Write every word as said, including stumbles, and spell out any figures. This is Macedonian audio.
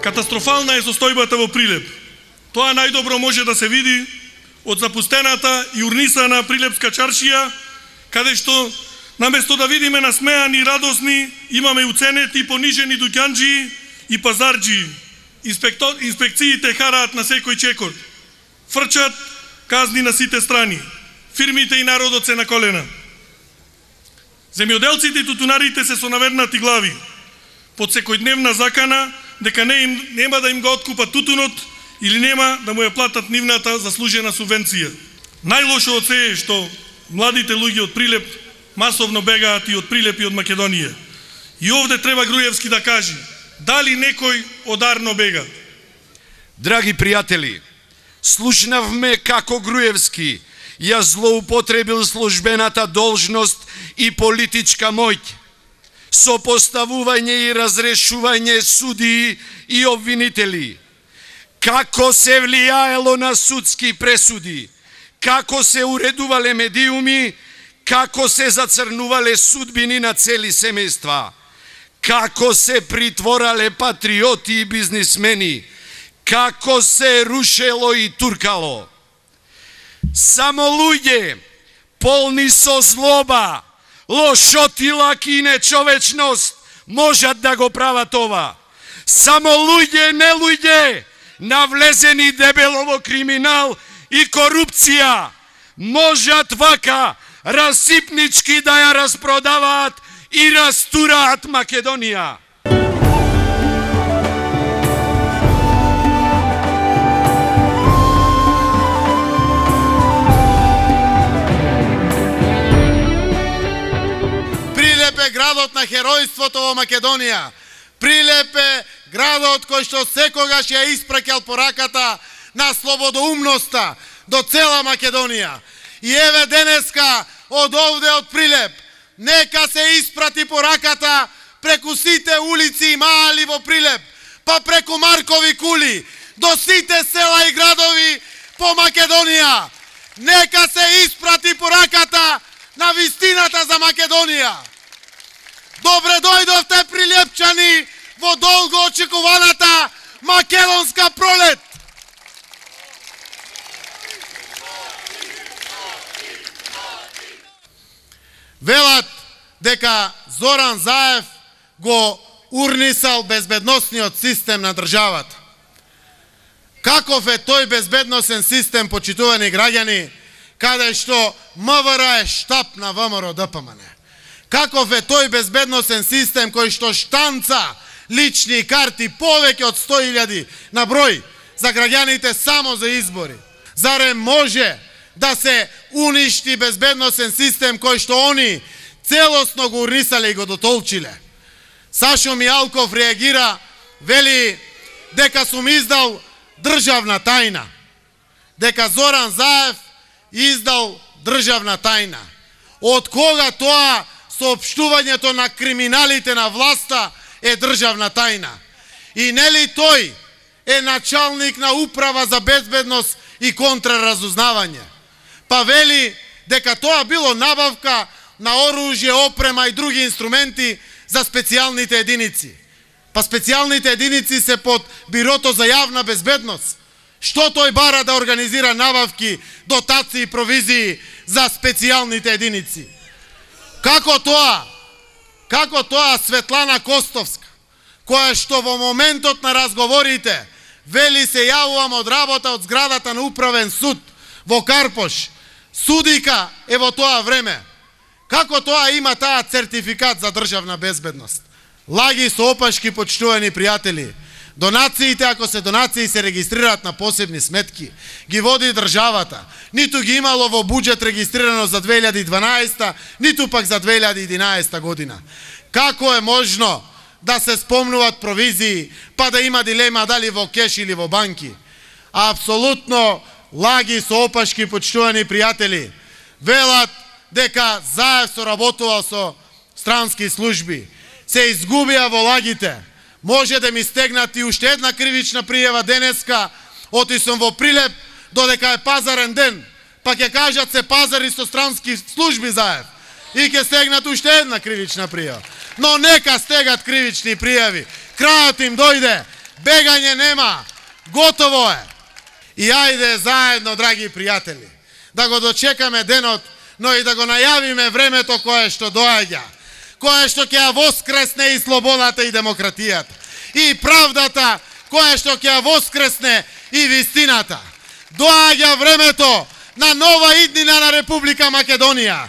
Катастрофална е состојбата во Прилеп. Тоа најдобро може да се види од запустената и урнисана Прилепска чаршија, каде што наместо да видиме насмеани и радосни, имаме уценети и понижени дуќанџии и пазарџии. Инспектор, инспекциите хараат на секој чекор. Фрчат казни на сите страни. Фирмите и народот се на колена. Земјоделците и тутунарите се со навернати глави, под секојдневна закана дека не им, нема да им го откупат тутунот или нема да му ја платат нивната заслужена субвенција. Најлошо од се е што младите луѓе од Прилеп масовно бегаат и од Прилеп и од Македонија. И овде треба Груевски да каже дали некој одарно бега. Драги пријатели, слушнавме како Груевски ја злоупотребил службената должност и политичка моќ со поставување и разрешување судии и обвинители, како се влијаело на судски пресуди, како се уредувале медиуми, како се зацрнувале судбини на цели семејства, како се притворале патриоти и бизнисмени, како се рушело и туркало. Само луѓе полни со злоба, лошотилак и нечовечност можат да го прават ова. Само луѓе, не луѓе, навлезени дебело во криминал и корупција, можат вака расипнички да ја распродаваат и растураат Македонија. Прилеп е градот на херојството во Македонија. Прилеп е градот кој што секогаш ја испраќал пораката на слободоумноста до цела Македонија. И еве денеска од овде од Прилеп нека се испрати пораката преку сите улици и маали во Прилеп, па преку Маркови кули, до сите села и градови по Македонија. Нека се испрати пораката на вистината за Македонија. Добре дојдовте, прилепчани, во долго очекуваната македонска пролет. Велат дека Зоран Заев го урнисал безбедносниот систем на државата. Каков е тој безбедносен систем, почитувани граѓани, каде што МВР е штаб на ВМРО Д П М Н? Каков е тој безбедносен систем кој што штанца лични карти повеќе од сто илјади на број за граѓаните само за избори? Зарем може да се уништи безбедносен систем кој што они целосно го урнисале и го дотолчиле? Сашо Мијалков реагира, вели дека сум издал државна тајна, дека Зоран Заев издал државна тајна. Од кога тоа соопштувањето на криминалите на власта е државна тајна? И нели тој е началник на управа за безбедност и контраразузнавање? Па вели дека тоа било набавка на оружје, опрема и други инструменти за специјалните единици. Па специјалните единици се под Бирото за јавна безбедност. Што тој бара да организира набавки, дотации и провизии за специјалните единици? Како тоа? Како тоа Светлана Костовска, која што во моментот на разговорите вели се јавувам од работа од зградата на управен суд во Карпош, судика е во тоа време. Како тоа има таа сертификат за државна безбедност? Лаги со опашки, почитувани пријатели. Донациите, ако се донации, се регистрираат на посебни сметки. Ги води државата. Ниту ги имало во буџет регистрирано за две илјади и дванаесета, ниту пак за две илјади и единаесета година. Како е можно да се спомнуваат провизии, па да има дилема дали во кеш или во банки? Апсолутно лаги со опашки, почитувани пријатели. Велат дека Заев соработувал со странски служби. Се изгубија во лагите. Може да ми стегнат и уште една кривична пријава денеска, оти сум во Прилеп, додека е пазарен ден, па ќе кажат се пазари со странски служби Заев. И ќе стегнат уште една кривична пријава. Но нека стегат кривични пријави. Крајот им дојде. Бегање нема. Готово е. И ајде заедно, драги пријатели, да го дочекаме денот, но и да го најавиме времето кое што доаѓа, кое што ќе ја воскресне и слободата и демократијата, и правдата, кое што ќе ја воскресне и вистината. Доаѓа времето на нова иднина на Република Македонија.